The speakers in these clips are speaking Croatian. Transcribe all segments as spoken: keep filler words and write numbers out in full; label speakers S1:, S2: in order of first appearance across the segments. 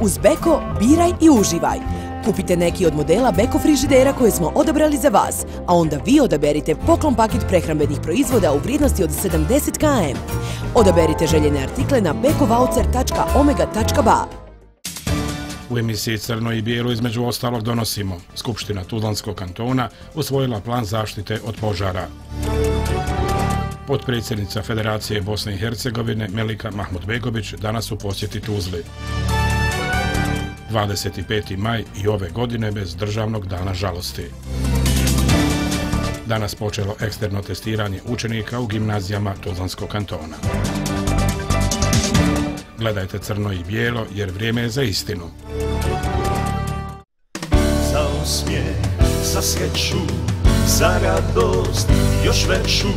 S1: Uz Beko biraj i uživaj. Kupite neki od modela Beko frižidera koje smo odabrali za vas, a onda vi odaberite poklon paket prehrambenih proizvoda u vrijednosti od sedamdeset kilograma. Odaberite željene artikle na bekovaucer tačka omega tačka ba.
S2: U emisiji Crno i bijelo između ostalog donosimo: Skupština Tuzlanskog kantona usvojila plan zaštite od požara. Potpredsjednica Federacije Bosne i Hercegovine Melika Mahmudbegović danas u posjeti Tuzli. dvadeset peti maj i ove godine bez državnog dana žalosti. Danas počelo eksterno testiranje učenika u gimnazijama Tuzlanskog kantona. Gledajte Crno i bijelo jer vrijeme je za istinu.
S3: Za osmijeh, za sreću, za radost još veću,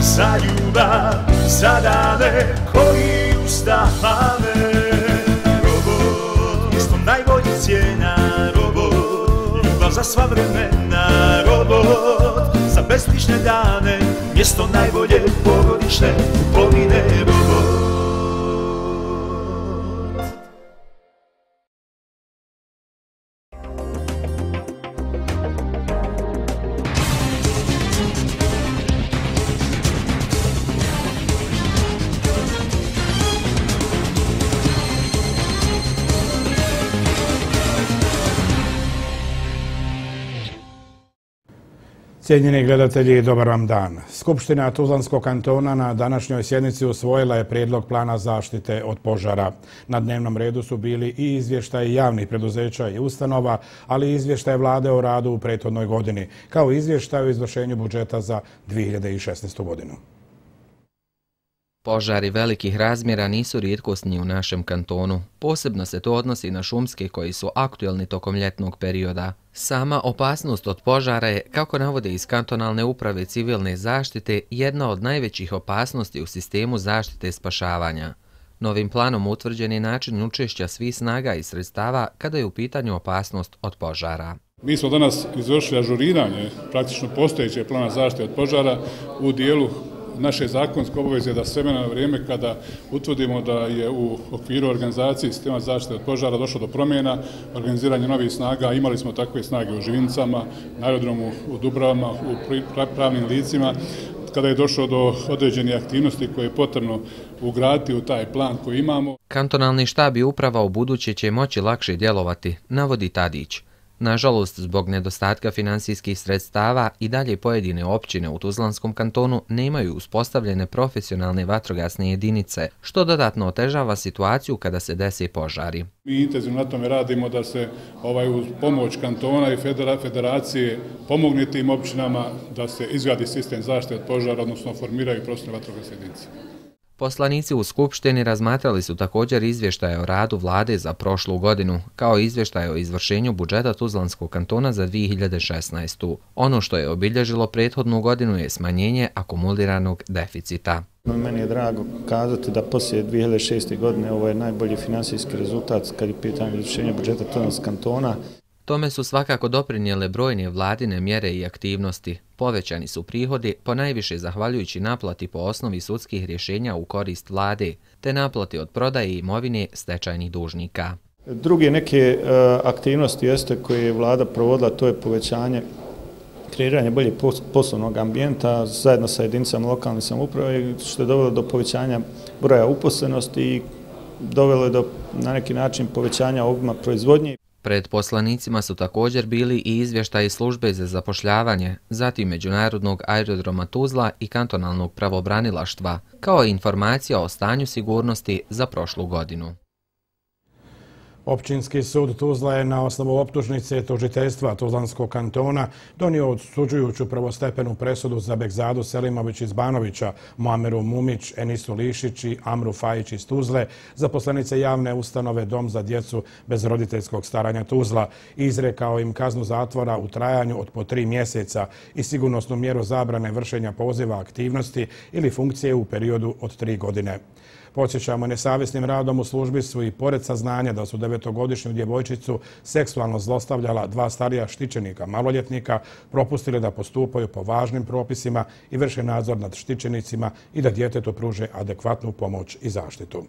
S3: za ljubav, za dane koji ustane. Robot, mjesto najboljih cijena, robot, ljubav za sva vremena, robot, za bezbrižne dane, mjesto najbolje porodične kupovine, robot.
S2: Cijenjeni gledatelji, dobar vam dan. Skupština Tuzlanskog kantona na današnjoj sjednici usvojila je prijedlog plana zaštite od požara. Na dnevnom redu su bili i izvještaji javnih preduzeća i ustanova, ali i izvještaj vlade o radu u prethodnoj godini, kao i izvještaj o izvršenju budžeta za dvije hiljade šesnaestu. godinu.
S4: Požari velikih razmjera nisu rijetkost ni u našem kantonu. Posebno se to odnosi na šumske koji su aktuelni tokom ljetnog perioda. Sama opasnost od požara je, kako navode iz kantonalne uprave civilne zaštite, jedna od najvećih opasnosti u sistemu zaštite i spašavanja. Novim planom utvrđen je način učešća svih snaga i sredstava kada je u pitanju opasnost od požara.
S5: Mi smo danas izvršili ažuriranje praktično postojećeg plana zaštite od požara u dijelu naše zakonske obaveze da s vremena na vrijeme kada utvrdimo da je u okviru organizacije sistema zaštite od požara došlo do promjena, organiziranja novih snaga, imali smo takve snage u Živinicama, na aerodromu u Dubravama, u pravnim licima, kada je došlo do određenih aktivnosti koje je potrebno ugraditi u taj plan koji imamo.
S4: Kantonalni štab i uprava u buduće će moći lakše djelovati, navodi Tadić. Nažalost, zbog nedostatka finansijskih sredstava i dalje pojedine općine u Tuzlanskom kantonu nemaju uspostavljene profesionalne vatrogasne jedinice, što dodatno otežava situaciju kada se dese požari.
S5: Mi intenzivno na tome radimo da se ovaj, uz pomoć kantona i federacije pomogne tim općinama da se izgradi sistem zaštite od požara, odnosno formiraju profesionalne vatrogasne jedinice.
S4: Poslanici u Skupštini razmatrali su također izvještaje o radu vlade za prošlu godinu, kao i izvještaje o izvršenju budžeta Tuzlanskog kantona za dvije hiljade šesnaestu. Ono što je obilježilo prethodnu godinu je smanjenje akumuliranog deficita.
S6: Meni je drago kazati da poslije dvije hiljade šeste. godine ovo je najbolji finansijski rezultat kad je pitanje izvršenja budžeta Tuzlanskog kantona.
S4: Tome su svakako doprinijele brojne vladine mjere i aktivnosti. Povećani su prihodi, ponajviše zahvaljujući naplati po osnovi sudskih rješenja u korist vlade, te naplati od prodaje imovine stečajnih dužnika.
S6: Druge neke uh, aktivnosti jeste koje je vlada provodila, to je povećanje kreiranje boljeg poslovnog ambijenta zajedno sa jedinicama lokalne samouprave, što je dovelo do povećanja broja uposlenosti i dovelo je do na neki način povećanja obima proizvodnje.
S4: Pred poslanicima su također bili i izvještaji službe za zapošljavanje, zatim Međunarodnog aerodroma Tuzla i kantonalnog pravobranilaštva, kao i informacija o stanju sigurnosti za prošlu godinu.
S2: Općinski sud Tuzla je na osnovu optužnice tužiteljstva Tuzlanskog kantona donio odsuđujuću prvostepenu presudu za Bekzadu Selimović iz Banovića, Muameru Mumić, Enisu Lišić i Amru Fajić iz Tuzle, zaposlenice javne ustanove Dom za djecu bez roditeljskog staranja Tuzla, i izrekao im kaznu zatvora u trajanju od po tri mjeseca i sigurnosnu mjeru zabrane vršenja poziva aktivnosti ili funkcije u periodu od tri godine. Podsjećamo, nesavjesnim radom u službi su i pored saznanja da su devetogodišnju djevojčicu seksualno zlostavljala dva starija štićenika maloljetnika, propustili da postupaju po važnim propisima i vrše nadzor nad štićenicima i da djetetu pruže adekvatnu pomoć i zaštitu.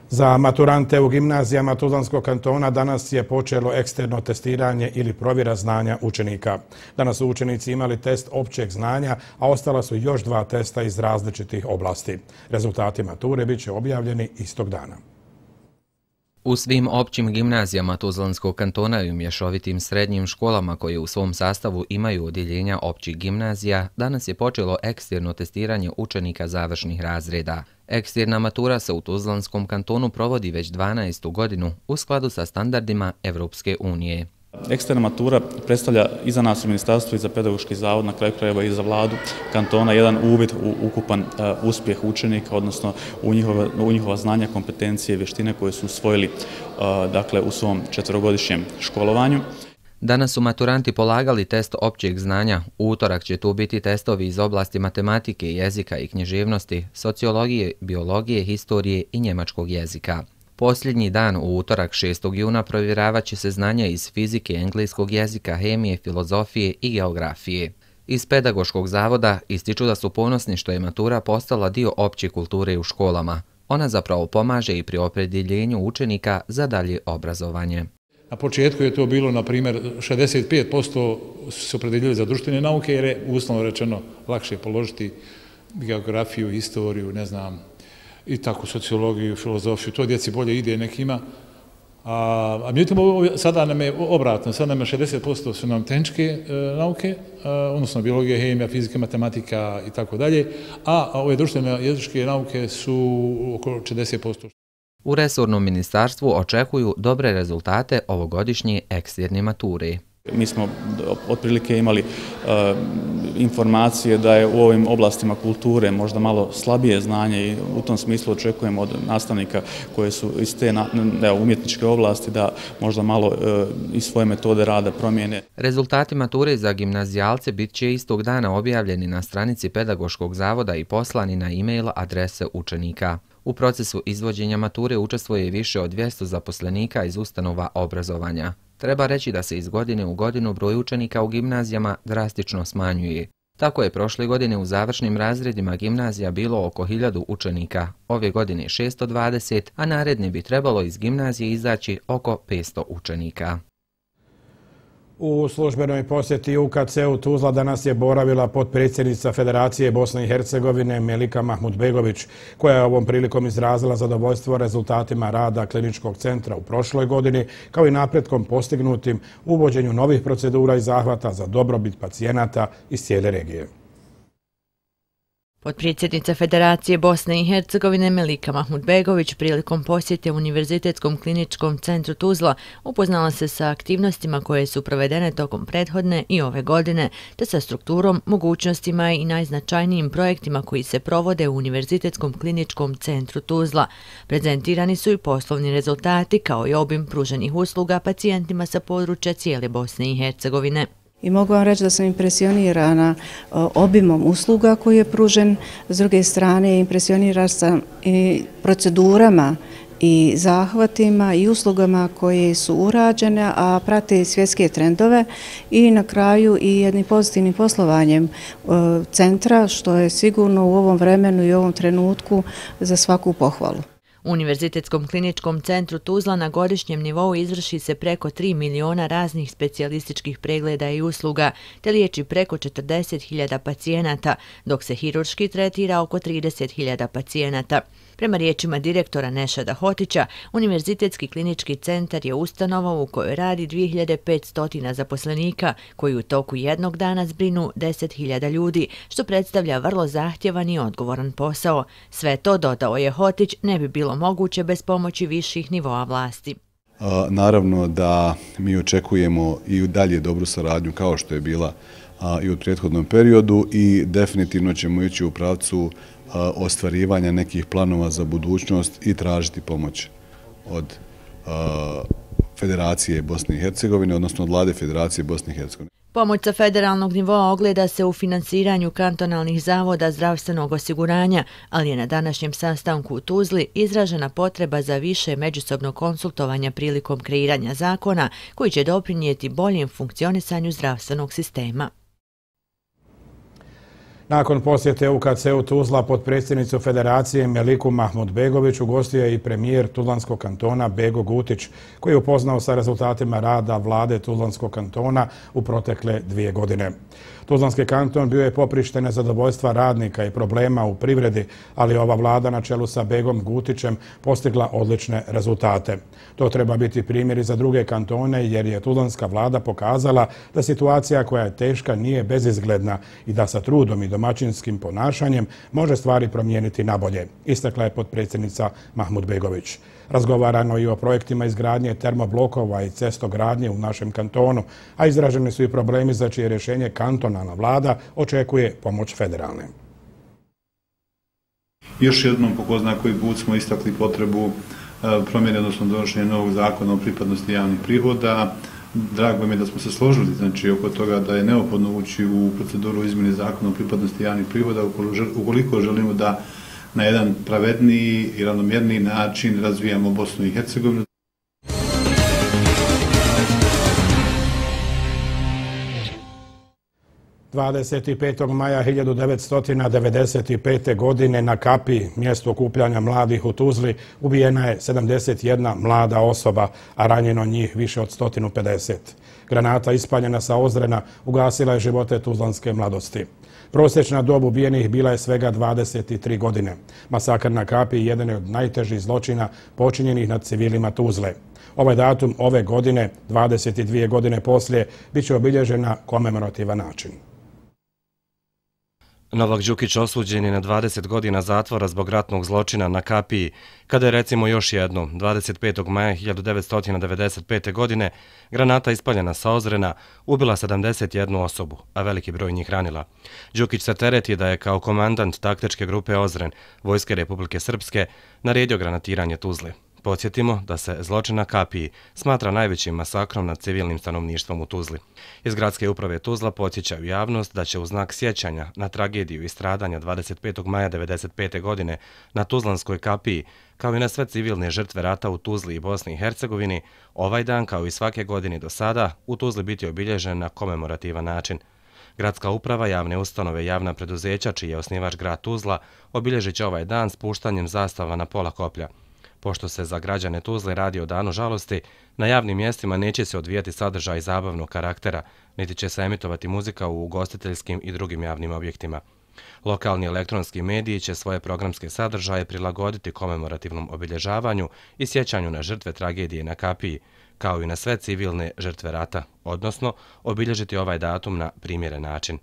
S2: Za maturante u gimnazijama Tuzlanskog kantona danas je počelo eksterno testiranje ili provjera znanja učenika. Danas su učenici imali test općeg znanja, a ostala su još dva testa iz različitih oblasti. Rezultati mature bit će objavljeni istog dana.
S4: U svim općim gimnazijama Tuzlanskog kantona i u mješovitim srednjim školama koje u svom sastavu imaju odjeljenja općih gimnazija, danas je počelo eksterno testiranje učenika završnih razreda. Eksterna matura se u Tuzlanskom kantonu provodi već dvanaestu godinu u skladu sa standardima Evropske unije.
S7: Eksterna matura predstavlja i za nas u ministarstvu i za pedagoški zavod, na kraju krajeva i za vladu kantona, jedan uvid u ukupan uh, uspjeh učenika, odnosno u njihova, u njihova znanja, kompetencije i vještine koje su usvojili uh, dakle, u svom četverogodišnjem školovanju.
S4: Danas su maturanti polagali test općeg znanja. U utorak će tu biti testovi iz oblasti matematike, jezika i književnosti, sociologije, biologije, historije i njemačkog jezika. Posljednji dan u utorak šestog juna provjeravat će se znanja iz fizike, engleskog jezika, hemije, filozofije i geografije. Iz pedagoškog zavoda ističu da su ponosni što je matura postala dio opće kulture u školama. Ona zapravo pomaže i pri opredjeljenju učenika za dalje obrazovanje.
S8: Na početku je to bilo, na primjer, šezdeset pet posto su se opredjeljili za društvene nauke, jer je uslovno rečeno lakše položiti geografiju, historiju, ne znam, i tako sociologiju, filozofiju. To djeci bolje ide nekima. A, a međutim, sada nam je obratno, sada nam je šezdeset posto su nam tehničke e, nauke, e, odnosno biologija, hemija, fizika, matematika i tako dalje, a ove društvene jezičke nauke su oko četrdeset posto.
S4: U resornom ministarstvu očekuju dobre rezultate ovogodišnje eksterne mature.
S7: Mi smo otprilike imali uh, informacije da je u ovim oblastima kulture možda malo slabije znanje i u tom smislu očekujemo od nastavnika koje su iz te na, ne, umjetničke oblasti da možda malo uh, i svoje metode rada promijene.
S4: Rezultati mature za gimnazijalce bit će istog dana objavljeni na stranici pedagoškog zavoda i poslani na e-mail adrese učenika. U procesu izvođenja mature učestvuje više od dvjesto zaposlenika iz ustanova obrazovanja. Treba reći da se iz godine u godinu broj učenika u gimnazijama drastično smanjuje. Tako je prošle godine u završnim razredima gimnazija bilo oko hiljadu učenika, ove godine šesto dvadeset, a naredne bi trebalo iz gimnazije izaći oko petsto učenika.
S2: U službenoj posjeti U K C-u Tuzla danas je boravila potpredsjednica Federacije Bosne i Hercegovine Melika Mahmudbegović, koja je ovom prilikom izrazila zadovoljstvo rezultatima rada kliničkog centra u prošloj godini, kao i napretkom postignutim uvođenju novih procedura i zahvata za dobrobit pacijenata iz cijele regije.
S9: Potpredsjednica Federacije Bosne i Hercegovine Melika Mahmudbegović prilikom posjete Univerzitetskom kliničkom centru Tuzla upoznala se sa aktivnostima koje su provedene tokom prethodne i ove godine, te sa strukturom, mogućnostima i najznačajnijim projektima koji se provode u Univerzitetskom kliničkom centru Tuzla. Prezentirani su i poslovni rezultati kao i obim pruženih usluga pacijentima sa područja cijele Bosne i Hercegovine.
S10: I mogu vam reći da sam impresionirana obimom usluga koji je pružen, s druge strane impresionirana sam i procedurama i zahvatima i uslugama koje su urađene, a prate svjetske trendove i na kraju i jednim pozitivnim poslovanjem centra, što je sigurno u ovom vremenu i ovom trenutku za svaku pohvalu.
S9: U Univerzitetskom kliničkom centru Tuzla na godišnjem nivou izvrši se preko tri miliona raznih specijalističkih pregleda i usluga, te liječi preko četrdeset hiljada pacijenata, dok se hirurški tretira oko trideset hiljada pacijenata. Prema riječima direktora Nešada Hotića, Univerzitetski klinički centar je ustanova u kojoj radi dvije hiljade petsto zaposlenika, koji u toku jednog dana zbrinu deset hiljada ljudi, što predstavlja vrlo zahtjevan i odgovoran posao. Sve to, dodao je Hotić, ne bi bilo moguće bez pomoći viših nivoa vlasti.
S11: Naravno da mi očekujemo i dalje dobru saradnju kao što je bila i u prethodnom periodu i definitivno ćemo ići u pravcu ostvarivanja nekih planova za budućnost i tražiti pomoć od Federacije Bosne i Hercegovine, odnosno od vlade Federacije Bosne i Hercegovine.
S9: Pomoć sa federalnog nivoa ogleda se u finansiranju kantonalnih zavoda zdravstvenog osiguranja, ali je na današnjem sastanku u Tuzli izražena potreba za više međusobnog konsultovanja prilikom kreiranja zakona koji će doprinijeti boljem funkcionisanju zdravstvenog sistema.
S2: Nakon posjete U K C-u Tuzla potpredsjednicu Federacije Meliku Mahmudbegović ugostio je i premijer Tuzlanskog kantona Bego Gutić, koji je upoznao sa rezultatima rada vlade Tuzlanskog kantona u protekle dvije godine. Tuzlanski kanton bio je poprište nezadovoljstva radnika i problema u privredi, ali ova vlada na čelu sa Begom Gutićem postigla odlične rezultate. To treba biti primjer i za druge kantone, jer je tuzlanska vlada pokazala da situacija koja je teška nije bezizgledna i da sa trudom i domaćinskim ponašanjem može stvari promijeniti nabolje, istakla je potpredsjednica Mahmudbegović. Razgovarano i o projektima izgradnje termoblokova i cestogradnje u našem kantonu, a izraženi su i problemi za čije rješenje kantonalna vlada očekuje pomoć federalne.
S12: Još jednom po ko zna koji put smo istakli potrebu promjene, odnosno donošenja novog zakona o pripadnosti javnih prihoda. Drago mi je da smo se složili znači, oko toga da je neophodno ući u proceduru izmjene zakona o pripadnosti javnih prihoda ukoliko želimo da na jedan pravedniji i ravnomjerniji način razvijamo Bosnu i Hercegovinu.
S2: dvadeset petog maja hiljadu devetsto devedeset pete. godine na Kapiji, mjestu okupljanja mladih u Tuzli, ubijena je sedamdeset jedna mlada osoba, a ranjeno njih više od sto pedeset. Granata ispaljena sa Ozrena ugasila je živote tuzlanske mladosti. Prosječna dob ubijenih bila je svega dvadeset tri godine. Masakr na Kapiji jedan je od najtežih zločina počinjenih nad civilima Tuzle. Ovaj datum ove godine, dvadeset dvije godine poslije, bit će obilježen na komemorativan način.
S13: Novak Đukić osuđen je na dvadeset godina zatvora zbog ratnog zločina na Kapiji, kada je recimo još jednom, dvadeset petog maja hiljadu devetsto devedeset pete. godine, granata ispaljena sa Ozrena ubila sedamdeset jednu osobu, a veliki broj njih ranila. Đukić se tereti da je kao komandant taktičke grupe Ozren, Vojske Republike Srpske, naredio granatiranje Tuzle. Podsjetimo da se zločin na Kapiji smatra najvećim masakrom nad civilnim stanovništvom u Tuzli. Iz gradske uprave Tuzla podsjećaju javnost da će u znak sjećanja na tragediju i stradanja dvadeset petog maja devedeset pete. godine na Tuzlanskoj Kapiji, kao i na sve civilne žrtve rata u Tuzli i Bosni i Hercegovini, ovaj dan, kao i svake godine do sada, u Tuzli biti obilježen na komemorativan način. Gradska uprava, javne ustanove i javna preduzeća, čiji je osnivač grad Tuzla, obilježit će ovaj dan spuštanjem zastava na pola koplja. Pošto se za građane Tuzle radi o danu žalosti, na javnim mjestima neće se odvijati sadržaj zabavnog karaktera, niti će se emitovati muzika u ugostiteljskim i drugim javnim objektima. Lokalni elektronski mediji će svoje programske sadržaje prilagoditi komemorativnom obilježavanju i sjećanju na žrtve tragedije na Kapiji, kao i na sve civilne žrtve rata, odnosno obilježiti ovaj datum na primjeren način.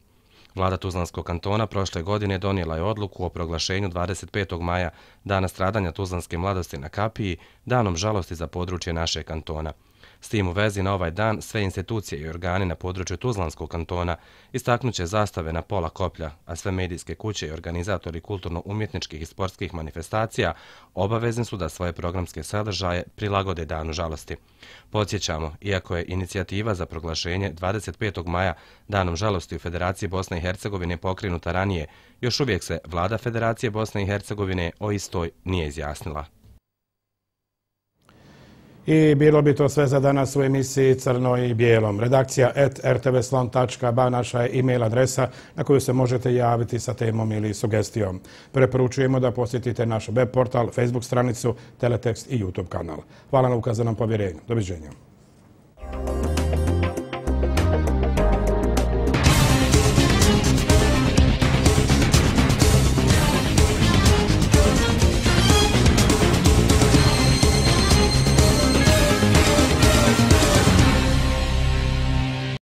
S13: Vlada Tuzlanskog kantona prošle godine donijela je odluku o proglašenju dvadeset petog maja, dana stradanja tuzlanske mladosti na Kapiji, danom žalosti za područje našeg kantona. S tim u vezi na ovaj dan sve institucije i organi na području Tuzlanskog kantona istaknuće zastave na pola koplja, a sve medijske kuće i organizatori kulturno-umjetničkih i sportskih manifestacija obavezni su da svoje programske sadržaje prilagode danu žalosti. Podsjećamo, iako je inicijativa za proglašenje dvadeset petog maja danom žalosti u Federaciji Bosne i Hercegovine pokrenuta ranije, još uvijek se vlada Federacije Bosne i Hercegovine o istoj nije izjasnila.
S2: I bilo bi to sve za danas u emisiji Crno i bijelom. Redakcija et er te ve slon tačka ba naša je e-mail adresa na koju se možete javiti sa temom ili sugestijom. Preporučujemo da posjetite naš web portal, Facebook stranicu, teletekst i YouTube kanal. Hvala na ukazanom povjerenju. Doviđenja.